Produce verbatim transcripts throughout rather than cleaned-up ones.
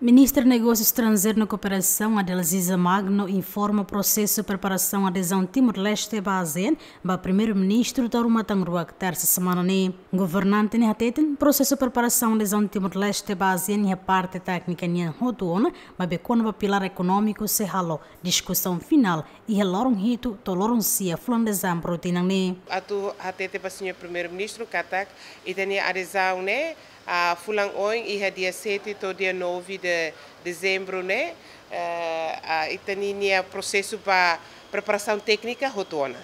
Ministra Negósiu Estranjeiru no Kooperasaun, Adelaziza Magno, informa prosesu preparasaun adezaun Timor-Leste ba ASEAN ba Primeiru-Ministru to'o ruma tan ruak, tersa semana ne'e. Governante ne'e hateten, prosesu preparasaun adezaun Timor-Leste ba ASEAN iha parte téknika nian hotu ona, maibé kona-ba pilár ekonómiku sei halo diskusaun finál iha loron hitu to'o loron sia fulan Dezembru tinan ne'e. Atu hatete ba señór Primeiru-Ministru katak ita-nia adezaun ne'e, ah, fulan oin iha dia sete to'o dia nove de Dezembru ne'e, eh, ah, ita-nia prosesu ba preparasaun téknika hotu ona.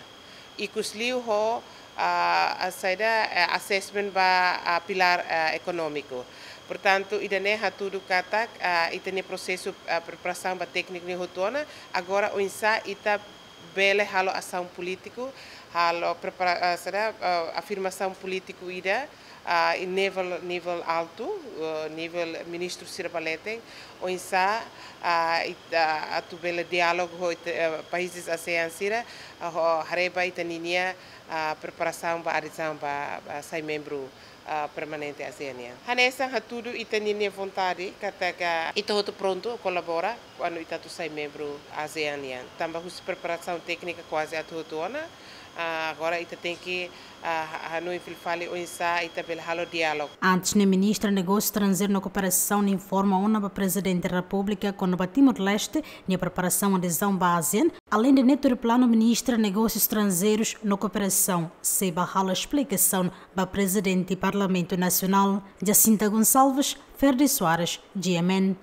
Ikusliu ho, ah, ah, saida, eh, assessment ba, ah, pilár, ah, ekonómiku. Portantu, ida-ne'e hatudu katak, ah, ita-nia prosesu, ah, preparasaun ba tékniku ne'e hotu ona, agora oinsá ita bele halo asaun polítiku, halo prepara-, ah, saida, ah, afirmasaun polítiku ida, ah, iha nivel, nivel altu, ah, nivel ministru sira ba leten, oinsá, ah, ita atu bele diálogu ho ita, eh, países ASEAN sira, ah, ho haree ba ita-nia, ah, preparasaun ba adezaun ba, ba sai membru, ah, permanente ASEAN nian. Hanesan hatudu ita-nia vontade, katak ita hotu prontu kolabora, kuandu ita atu sai membru ASEAN nian. Tanba husi preparasaun téknika kuaze atu hotu ona, ah, agora ita tenke, ah, ha-, hanoin fila fali oinsá ita bele halo diálogu. Antes ne'e, Ministra Negósiu Estranjeiru no Kooperasaun informa ona ba Prezidente Repúblika kona-ba Timor-Leste nia preparasaun adezaun ba ASEAN. Aleinde ne'e, tuir planu, Ministra Negósiu Estranjeirus no Kooperasaun sei bá halo esplikasaun ba Prezidente Parlamentu Nasionál. Jacinta Gonçalves, Ferdi Soares, G M N.